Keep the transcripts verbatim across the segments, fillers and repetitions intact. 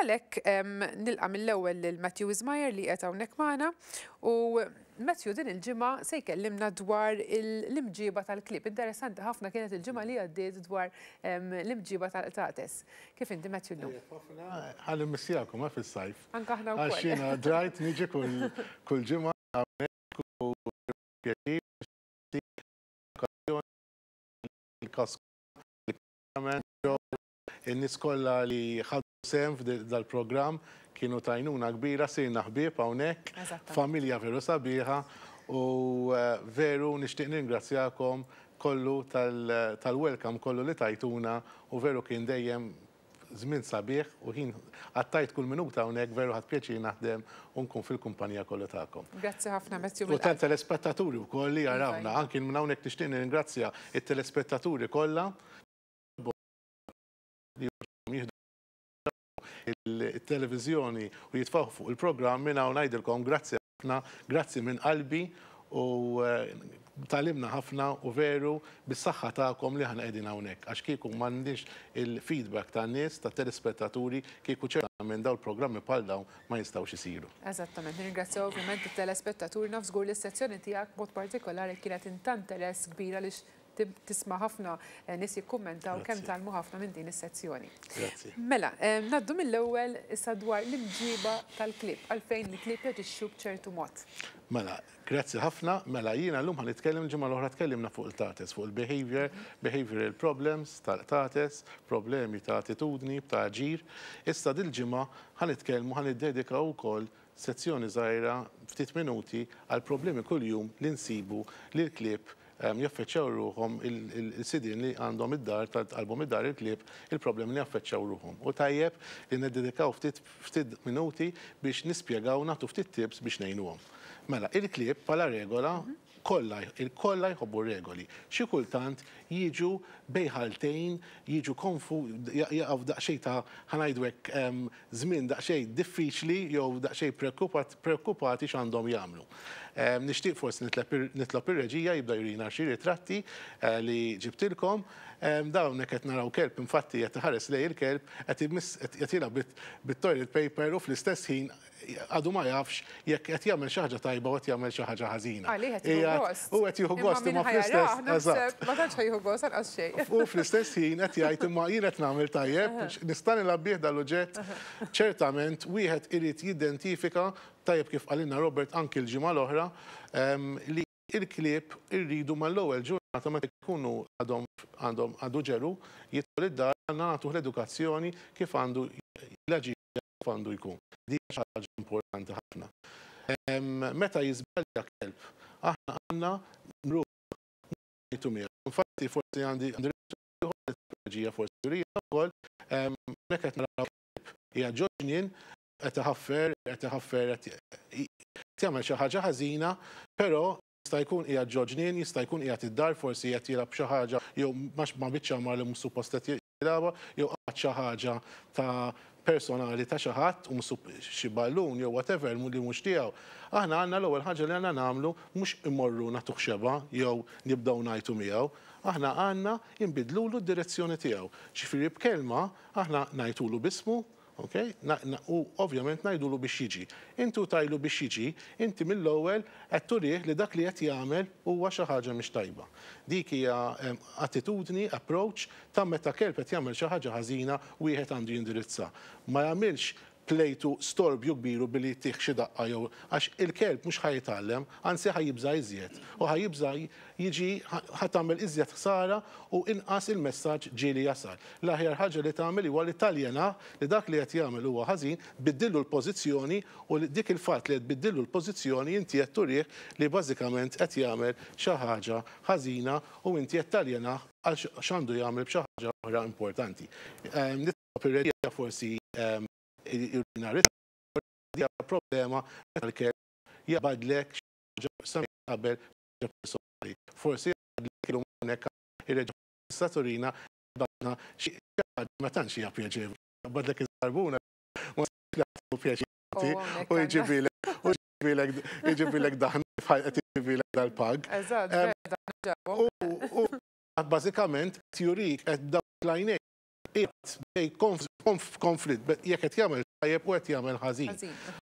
Għalhekk nilqa' mill-ewwel lil Matthew Wismayer li qed hawnhekk magħna u Matthew din il-ġimgħa se jkellimna dwar l-imġiba tal-klieb. Interessanti ħafna kienet il-ġimgħa li għaddiet dwar l-imġiba tal-qtates. Kif inti, Matthew, llum? Ħa nimmissjakom fis-sajf. Anka aħna wkoll. Għax jiena drajt niġi kull ġimgħa hawnhekk u pjaċir il-kas in-nies kollha li ħadu sehem f'dal-programm kienu t'għajnuna kbira, sirna ħbieb hawnhekk, familja veru sabiħa u veru nixtieq ningrazzjakom kollu tal-welcome kollu li tajtuna u veru kien dejjem żmien sabiħ u ħin għaddejt kull minuta hawnhekk, veru ħadt pjaċir naħdem u nkun fil-kumpanija kollha tagħkom. Grazzi ħafna, Matthew. U tal-telespettaturi wkoll li jarawna, anki minn hawnhekk nixtieq nirringrazzja it-telespettaturi kollha li jieħdu il-televizjoni u jitfgħu fuq il-programm. Minn hawn ngħidilkom grazzi ħafna, grazzi minn qalbi u tgħallimna ħafna u veru bis-saħħa tagħkom li aħna qegħdin hawnhekk. Għax kieku m'għandix il-feedback tan-nies, tat-telespettaturi, kieku ċertament dawn il-programmi bħal dawn ma jistgħux isiru. Eżattament, nirringrazzjaw ovvjament it-telespettaturi. Naf żgur li s-sezzjoni tiegħek mod partikolari kienet ta' interess kbira li tisma' ħafna nies jikkummentaw kemm tgħallmu ħafna minn din is-sezzjoni. Grazzi. Mela, ngħaddu mill-ewwel issa dwar l-imġiba tal-klieb, għalfejn il-klieb jaġixxu b'ċertu mod. Mela, grazzi ħafna. Mela, jiena llum ħa nitkellem, ġimgħa l-oħra tkellimna fuq il-qtates, fuq il-behavior, behavioral problems tal-qtates, problemi ta' attitudni, ta' aġir. Issa dil-ġimgħa ħa nitkellmu, ħa niddedikaw ukoll sezzjoni żgħira, ftit minuti, għal problemi kuljum li nsibu li l-klieb jaffeċċjaw ruħhom, il-sidin li għandhom id-dar, tal-album id-dar il-klieb, il-problemi li jaffeċċjaw ruħhom. U tajjeb li neddedikaw ftit ftit minuti biex nispjegaw, nagħtu ftit tips biex ngħinuhom. Mela, il-klieb bħala regola kollha il-kollha jħobbu regoli. Xi kultant jiġu bejn ħaltejn, jiġu konfu, jaqgħu daqsxejn ta', ħa ngħidu hekk, żmien daqsxejn diffiċli jew daqsxejn preokkupati x'għandhom jagħmlu. Nixtieq forsi nitlob ir-reġija jibda jurina xi ritratti eh, li ġibtilkom. Dawn qed naraw kelb, infatti qed iħares lejn il-kelb, qed jilgħab bit-toilet paper u fl-istess ħin għadu ma jafx jekk qed jagħmel xi ħaġa tajba u qed jagħmel xi ħaġa ħażina. Għalih qed jieħu gost. U qed jieħu gost imma fl-istess. Eżatt. Ma tantx jieħu gost anqas xejn. U fl-istess ħin qed jgħid: "Imma jien qed nagħmel tajjeb, nista' nilgħab bih dal-oġġett?" Ċertament wieħed irid jidentifika tajjeb, kif qalilna Robert anki l-ġimgħa l-oħra, li il-klieb irridu mal-ewwel ġurnata meta jkunu għadhom għandhom għadu ġeru jidħol id-dar, għandna nagħtuh l-edukazzjoni kif għandu l-aġir, kif għandu jkun. Di ħaġa importanti ħafna. Meta jiżbalja kelb, aħna għandna nruħ ngħidu miegħu. Infatti forsi għandi għandi forsi jurija wkoll hekk, qed naraw kelb hija ġo ġnien, qed iħaffer, qed iħaffer, qed jagħmel xi ħaġa ħażina, però jista' jkun qiegħed ġo ġnien, jista' jkun qiegħed id-dar, forsi qed jilgħab xi ħaġa jew ma biċċa mar li mhux suppost qed jilgħabha, jew qatt xi ħaġa ta' personali ta' xi ħadd u xi ballun jew whatever li mhux tiegħu. Aħna għandna l-ewwel ħaġa li għandna nagħmlu mhux immorru nagħtuh xebgħa jew nibdew ngħajtu miegħu. Aħna għandna inbidlulu d-direzzjoni tiegħu. Ġifieri b'kelma aħna ngħidulu b'ismu, ok? U ovvjament ngħidulu biex jiġi. Intu tgħidlu biex jiġi, inti mill-ewwel qed turih li dak li qed jagħmel huwa xi ħaġa mhix tajba. Dik hija attitudni, approach ta' meta kelb qed jagħmel xi ħaġa ħażina, wieħed għandu jindirizza. Ma jagħmilx plejtu storbju kbiru billi ttih xi daqqa jew, għax il-kelb mhux ħa jitgħallem, anzi ħa jibża' iżjed. U ħa jibża' jiġi, ħa tagħmel iżjed ħsara u inqas il-messaġġ ġieli jasal. L-aħjar ħaġa li tagħmel huwa li taljena li dak li qed jagħmel huwa ħażin, biddillu l-pożizzjoni, u dik il-fatt li qed biddillu l-pożizzjoni inti qed turih li bażikament qed jagħmel xi ħaġa ħażina u inti qed taljena għal x'għandu jagħmel b'xi ħaġa oħra importanti. Nitlob ir-reġija forsi jurina problema meta l-kelb jaqbadlek xi qabel personali. Forsi jaqbadlek illum hawnhekk ir-reġija turina badna xi ħaġa ma tantx hija pjaċevoli. Jaqbadlek iż-żarbuna ma pjaċir u jġibilek u jġibilek jġibilek daħna qed jġibilek dal-pug. U bażikament jurik qed dawk l-għajnejn qiegħed bejn konflitt jekk qed jagħmel tajjeb u qed jagħmel ħażin.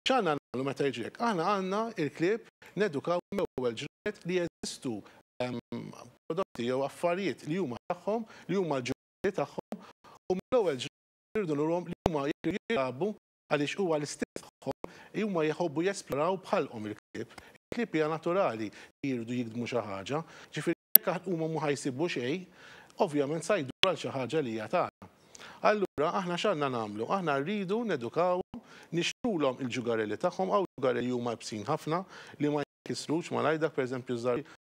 X'għandna nagħmlu meta jiġri hekk? Aħna għandna il-klieb nedukaw mill-ewwel ġranet li jeżistu prodotti jew affarijiet li huma tagħhom, li huma l-ġugarelli tagħhom, u mill-ewwel ġranet irridu nurhom li huma jilagħbu għaliex huwa l-istess tagħhom, huma jħobbu jesploraw bħalhom il-klieb. Il-klieb hija naturali li jridu jikdmu xi ħaġa, ġifieri jekk huma mhu ħajsibu xejn, ovvjament sa jduru għal xi ħaġa li hija tagħna. Allura aħna x'għandna nagħmlu? Aħna rridu nedukawhom, nixtrulhom il-ġugarelli tagħhom, hawn ġugarelli huma iebsin ħafna li ma jinkisrux malajr, dak pereżempju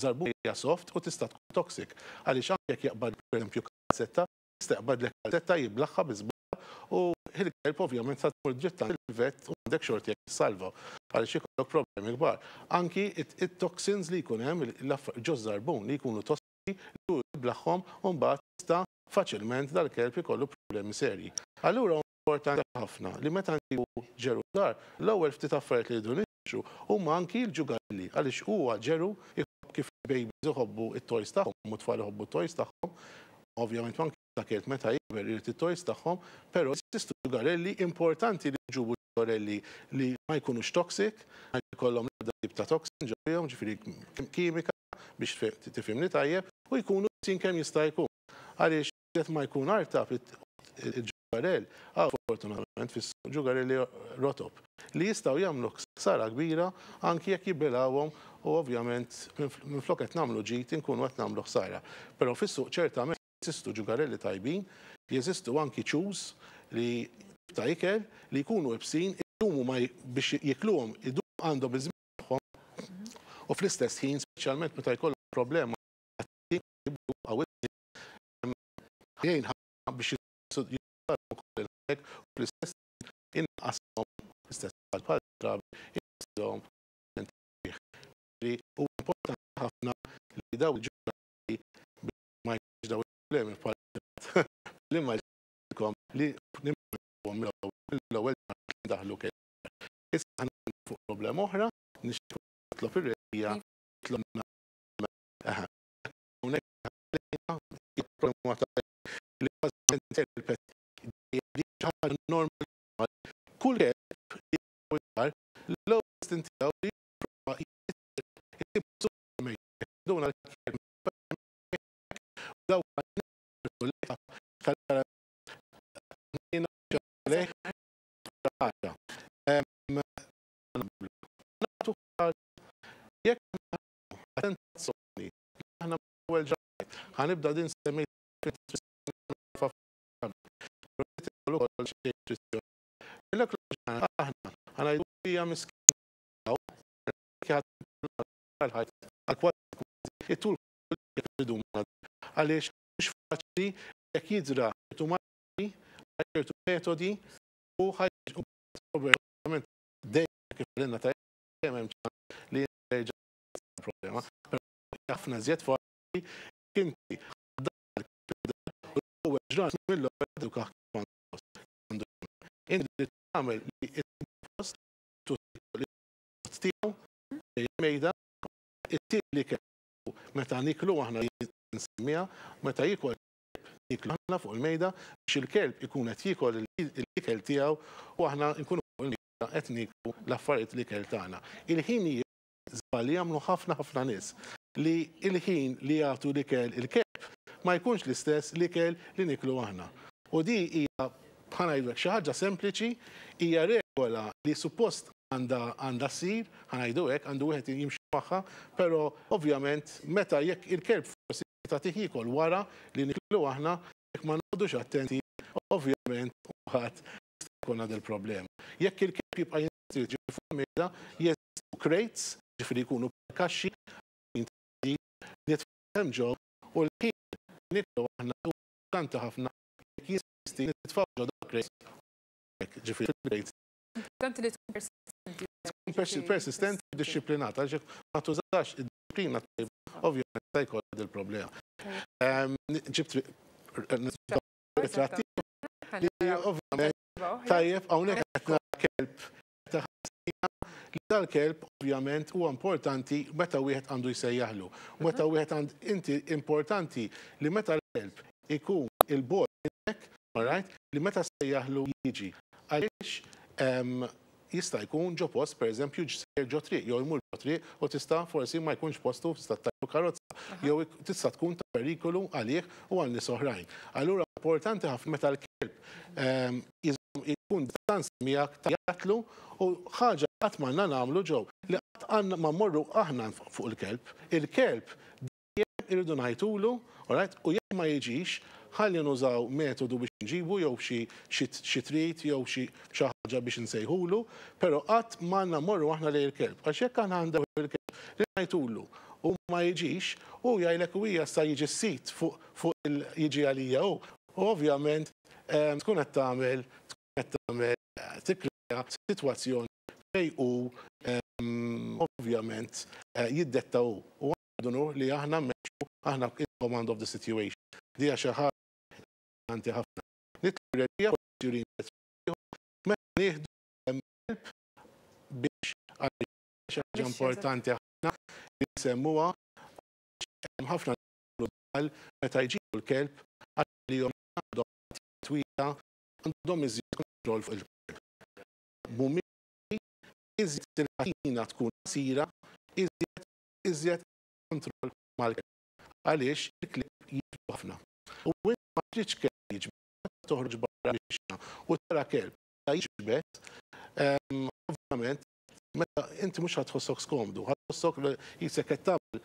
żarbun hija soft u tista' tkun toxic. Għaliex anke jekk jaqbad pereżempju kalzetta, tista' jaqbadlek kalzetta jiblaħħa bi żball u il-kelb ovvjament sa tmur dritt il-vet u għandek xorti jekk tissalva għaliex ikollok problemi kbar. Anki it-toxins li jkun hemm ġo żarbun li jkunu tossiċi li jiblaħħom u mbagħad tista' faċilment dal-kelb ikollu problemi serji. Allura importanti ħafna li meta nġibu ġeru dar, l-ewwel ftit affarijiet li jridu nixtru huma anki l-ġugarelli, għaliex huwa ġeru jħobb kif babies iħobbu it-toys tagħhom u tfal iħobbu t-toys tagħhom. Ovvjament anki ta' kelb meta jikber irid it-toys tagħhom, però jeżistu ġugarelli, importanti li nġibu ġugarelli li ma jkunux toxic, ma jkollhom l-ebda tip ta' toxin ġewwihom, ġifieri kimika biex tifhimni tajjeb, u jkunu sin kemm jista' jkun. Għaliex qed ma jkun artab il-ġugarell, fortunatament fis-ġugarelli rotop li jistgħu jagħmlu ħsara kbira anki jekk jibilgħuhom u ovvjament minflok qed nagħmlu ġid inkunu qed nagħmlu ħsara. Però fis-suq ċertament jeżistu ġugarelli tajbin, jeżistu anki chews li ta' ikel li jkunu iebsin, idumu ma biex jikluhom, idumu għandhom iż-żmien tagħhom u fl-istess ħin speċjalment meta jkollhom problema jgħin biex ukoll il-ħek u fl-istess inqashom l-istess bħal drabi inqashom. U importanti ħafna li daw il-ġugarelli ma jkunx daw il-problemi bħal li ma jkunx li nimgħu mill-ewwel daħlu kelb. Issa ħa fuq problema oħra, nixtieq nitlob ir-reġija tlobna hawnhekk problema ta' li bażikament il-pet ħaġa normali. Kull kelb l-ewwel istint tiegħu li jipprova jsib duna l-kelb daw jekk attenzjoni aħna ewwel ġranet ħanibda din semmejt aħna ħanajdu hija miskin it-tul għaliex mhux faċli jekk jidra ċertu modi, ċertu metodi u ħajġu ovvjament dejjem kif għalina tajjeb hemm ċans li jerġa' problema. Però ħafna żjed faċli inti l-ewwel ġranet mill-ewwel eduka għandu. Inti tagħmel li post tiegħu mejda it-tieni kellu meta niklu aħna nsemmiha meta jiekol niklu aħna fuq il-mejda biex il-kelb ikun qed jiekol l-ikel tiegħu u aħna nkunu fuq il-mejda qed niklu l-affarijiet l-ikel tagħna. Il-ħin żball li jagħmlu ħafna ħafna nies li il-ħin li jagħtu l-ikel il-kelb ma jkunx l-istess l-ikel li niklu aħna. U di hija bħal ngħidlek xi ħaġa sempliċi, hija regola li suppost għandha għandha ssir, ħanajdu hekk, għandu wieħed jimxi magħha, però ovvjament meta jekk il-kelb forsi tagħtih jiekol wara li niklu aħna, jekk ma noqogħdux attenti, ovvjament ħadd jista' jkun għad il-problema. Jekk il-kelb jibqa' jinsisti fuq mejda, jeżistu crates, ġifieri jkunu kaxxi nitfgħu ġew u l-ħin niklu aħna importanti ħafna jekk jinsisti nitfgħu ġo dak crates, ġifieri crates. Importanti li tkun persistenti. Tkun persistenti u dixxiplinata, għaliex jekk ma tużax id-dixxiplina tajba, ovvjament se jkollha dil-problema. Ġibt ritratti li ovvjament tajjeb hawnhekk qed nara kelb ta' ħażina li dal-kelb ovvjament huwa importanti meta wieħed għandu jsejjaħlu. Meta wieħed għand inti importanti li meta l-kelb ikun il-bogħod minnek, all right, li meta sejjaħlu jiġi. Għaliex Jista' jkun ġo post, per eżempju, ġo triq, jew jmur ġo triq u tista' forsi ma jkunx postu, tista' ttajru karozza, jew tista' tkun ta' perikolu għalih u għal nies oħrajn. Allura importanti ħafna meta l-kelb jkun distanza miegħek tgħajjatlu, u ħaġa qatt m'għandna nagħmlu ġew li qatt għandna ma mmorru aħna fuq il-kelb. Il-kelb dejjem irridu ngħajtulu, alright, u jekk ma jiġix, ħalli nużaw metodu biex nġibu jew xi treat jew xi ħaġa biex nsejħulu, però qatt m'għandna mmorru aħna lejn il-kelb. Għax jekk aħna għandna il-kelb li ngħajtulu u ma jiġix, u jgħidlek u hija sa jiġi s-sit fuq jiġi għalija u. U ovvjament tkun qed tagħmel tkun qed tagħmel tikkrea sitwazzjoni fejn u ovvjament jiddetta hu. U għandu li aħna mmexxu, aħna in command of the situation. Dija xi ħaġa importanti ħafna. Nitlu reġija meta nieħdu kelb biex xi ħaġa importanti ħafna li nsemmuha, hemm ħafna meta jġibu l-kelb għalli jom għandhom twila, għandhom iżjed kontroll fuq il-kelb. Mhumiex iżjed il-katina tkun qasira, iżjed iżjed kontroll mal-kelb. Għaliex il-klieb jiġbdu ħafna. U inti ma tridx kelb jiġbed, toħroġ barra biex u tara kelb jiġbed, ovvjament meta inti mhux ħa tħossok skomdu, ħa tħossok qisek qed tagħmel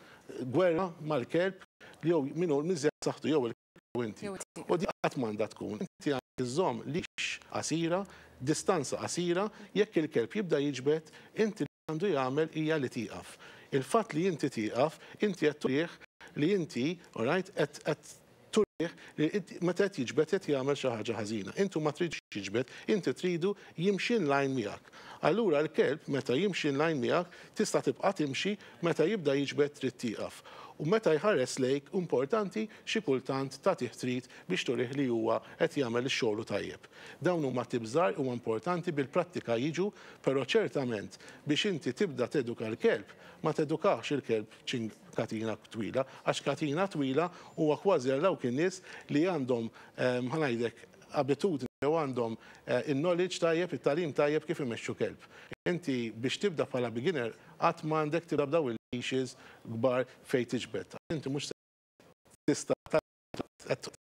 gwerra mal-kelb li jew minnu miżjed saħħtu, jew il-kelb jew inti. U di qatt m'għandha tkun. Inti għandek iżżomm leash qasira, distanza qasira, jekk il-kelb jibda jiġbed, inti li għandu jagħmel hija li tieqaf. Il-fatt li inti tieqaf, inti qed turih li inti, alright, qed turih li meta qed jiġbed qed jagħmel xi ħaġa ħażina. Intu ma tridx jiġbed, inti tridu jimxi in line miegħek. Allura l-kelb meta jimxi in line miegħek tista' tibqa' timxi, meta jibda jiġbed trid tieqaf. U meta jħares lejk, importanti xi kultant tagħtih treat biex turih li huwa qed jagħmel ix-xogħol tajjeb. Dawn huma tips żgħar, huwa importanti, bil-prattika jiġu, però ċertament biex inti tibda teduka l-kelb, ma tedukax il-kelb ċing katina twila, għax katina twila huwa kważi għal dawk in-nies li għandhom, ħa ngħidlek, abitudni jew għandhom il-knowledge tajjeb, it-tagħlim tajjeb kif imexxu kelb. Inti biex tibda bħala beginner qatt m'għandek tibda b'daw il-leashes kbar fejn tiġbed. Inti mhux tista'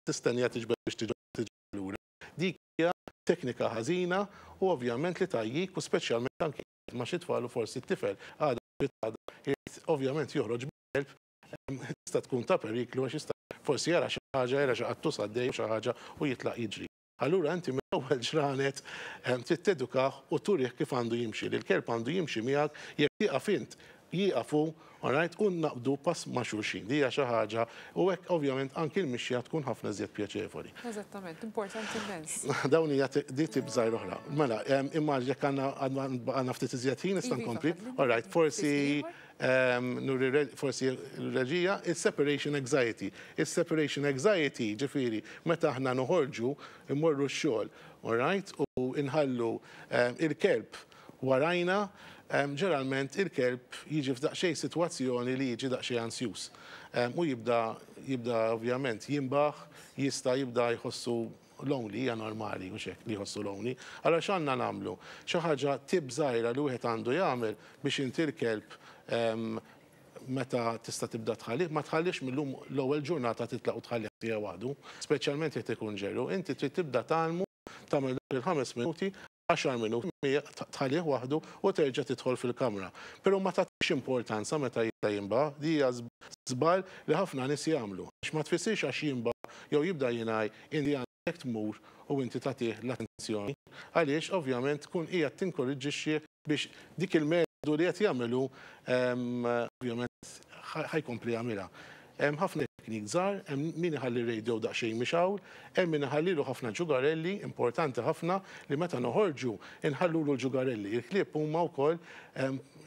tistennija tiġbed biex tiġbed lura. Dik hija teknika ħażina u ovvjament li tajjik, u speċjalment anki ma' xi tfal u forsi t-tifel għada ovvjament joħroġ bil-kelb, tista' tkun ta' periklu għax jista' forsi jara xi ħaġa, jara xi qattus għaddej xi ħaġa u jitlaq jiġri. Allura inti mill-ewwel ġranet trid tedukah u turih kif għandu jimxi. Li l-kelb għandu jimxi miegħek, jekk tieqaf int jieqafu, alright, u naqbdu pass ma' xulxin. Dija xi ħaġa u hekk ovvjament anki l-mixja tkun ħafna iżjed pjaċevoli. Eżattament, importanti immens. Dawn hija di tip żgħir oħra. Mela, imma jekk għandna ftit iżjed ħin nista' Iva, nkompli. fadli. Alright, forsi Ftit nuri forsi reġija, il-separation anxiety. Il-separation anxiety, ġifieri, meta aħna noħorġu, immorru x-xogħol, alright, u inħallu il-kelb warajna, ġeneralment il-kelb jiġi f'daqsxejn sitwazzjoni li jiġi daqsxejn ansjus. U jibda jibda ovvjament jimbaħ, jista' jibda jħossu lonely, hija normali u xek li jħossu lonely. Allora x'għandna nagħmlu? Xi ħaġa tip żgħira li wieħed għandu jagħmel biex inti l-kelb meta tista' tibda tħallih, ma tħallix mill-lum l-ewwel ġurnata titlaq u tħallih tiegħu waħdu, speċjalment jekk ikun ġeru. Inti trid tibda tgħallmu tagħmel dak il-ħames minuti, għaxar minuti, tħallih waħdu u terġa' tidħol fil-kamra. Però ma tagħtix importanza meta jibda jimba, di hija żball li ħafna nies jagħmlu. Għax ma tfissirx għax jimba jew jibda jingħaj inti għandek tmur u inti tagħtih l-attenzjoni. Għaliex ovvjament tkun qiegħed tinkoraġġixxi biex dik il-metodu li qed jagħmlu ovvjament ħa jkompli jagħmilha. Hemm ħafna teknik żgħar, hemm min iħalli radio daqsxejn mixgħul, hemm min iħallilu ħafna ġugarelli, importanti ħafna li meta noħorġu inħallulu l-ġugarelli. Il-klieb huma wkoll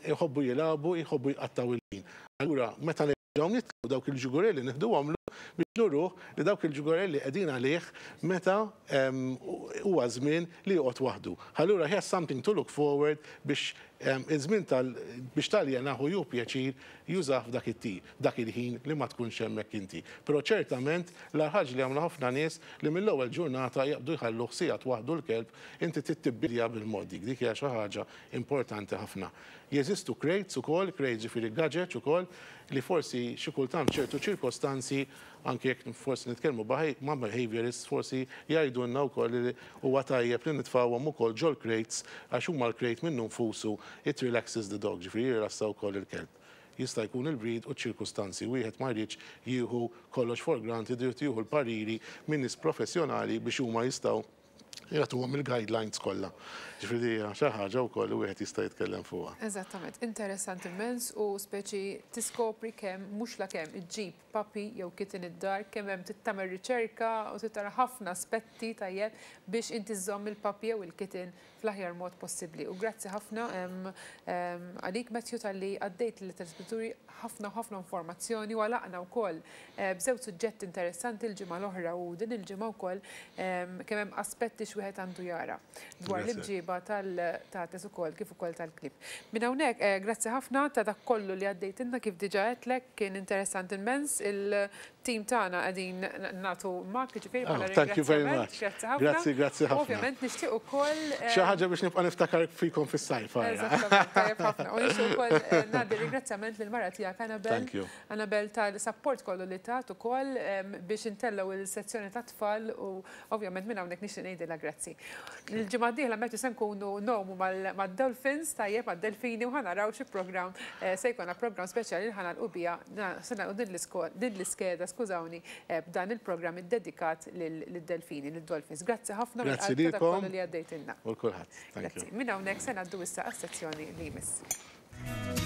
jħobbu jilagħbu, jħobbu jqattaw il-ħin. Allura meta nerġgħu Dawk il-ġugurelli neħduhom biex nuruh li dawk il-ġugurelli qegħdin għalih meta huwa żmien li joqgħod waħdu. Allura he has something to look forward biex iż-żmien tal biex taljenahu ju pjaċir jużah f'dak it dak il-ħin li ma tkunx hemmhekk inti. Però ċertament l-ħaġa li għamlu ħafna nies li mill-ewwel ġurnata jaqbdu jħallu sigħat waħdu l-kelb, inti tittibbilja bil-mod dik, dik hija xi ħaġa importanti ħafna. Jeżistu crates ukoll, crates ġifieri gadgets ukoll, li forsi xi kultant ċertu ċirkostanzi, anke jekk forsi nitkellmu ma' behaviorists, forsi jgħidulna wkoll li huwa tajjeb li nitfgħuhom ukoll ġol crates, għax huma l-crate minnu nfusu it relaxes the dog, ġifieri jirrilassa wkoll il-kelb. Jista' jkun il-breed u ċirkustanzi, wieħed ma jridx jieħu kollox for granted, irid jieħu l-pariri minn nies professjonali biex huma jistgħu jagħtuhom il-guidelines kollha. Ġifieri xi ħaġa wkoll li wieħed jista' jitkellem fuqha. Eżattament, interessanti immens u speċi tiskopri kemm mhux la kemm iġġib puppy jew kitten id-dar, kemm hemm tagħmel riċerka u tara ħafna aspetti tajjeb biex inti żżomm il-puppy jew il-kitten fl-aħjar mod possibbli. U grazzi ħafna għalik, Matthew, talli għaddejt lit-telespettaturi ħafna ħafna informazzjoni u għalaqna wkoll eh, b'żewġ suġġetti interessanti l-ġimgħa l-oħra u din il-ġimgħa wkoll kemm hemm aspetti x'wieħed għandu jara dwar l-imġiba tal-qtates ukoll kif ukoll tal-klieb. Minn hawnhekk eh, grazzi ħafna ta' dak kollu li għaddejtilna. Kif diġà għedtlek, kien interessanti immens. Il-tim tagħna qegħdin nagħtu mak ġifieri oh, thank you very much. Grazzi ħafna. Grazzi, grazzi ħafna. Ovvjament nixtieq ukoll eh, Xi ħaġa biex nibqa' niftakar fikom fis-sajf. Eżattament, tajjeb ħafna. U nixtieq ukoll eh, ngħaddi ringrazzjament lill-mara tiegħek Annabel. Thank you. Annabel tal-support kollu li tat ukoll biex intellgħu il-sezzjoni ta' tfal u ovvjament minn hawnhekk nixtieq ngħidilha grazzi. Il-ġimgħa d-dieħla meta se nkunu ngħumu mad-dolphins, tajjeb, mad-delfini, u ħa naraw xi programm eh, se jkollna, programm speċjali li ħa nagħlqu biha, se nagħlqu din l-iskeda, skużawni, eh, b'dan il-programm iddedikat lid-delfini, lid-dolphins. Grazzi ħafna. Grazzi lilkom. Li għaddejtilna. U kulħadd. Grazzi. Minn hawnhekk se ngħaddu issa għas-sezzjoni li jmiss.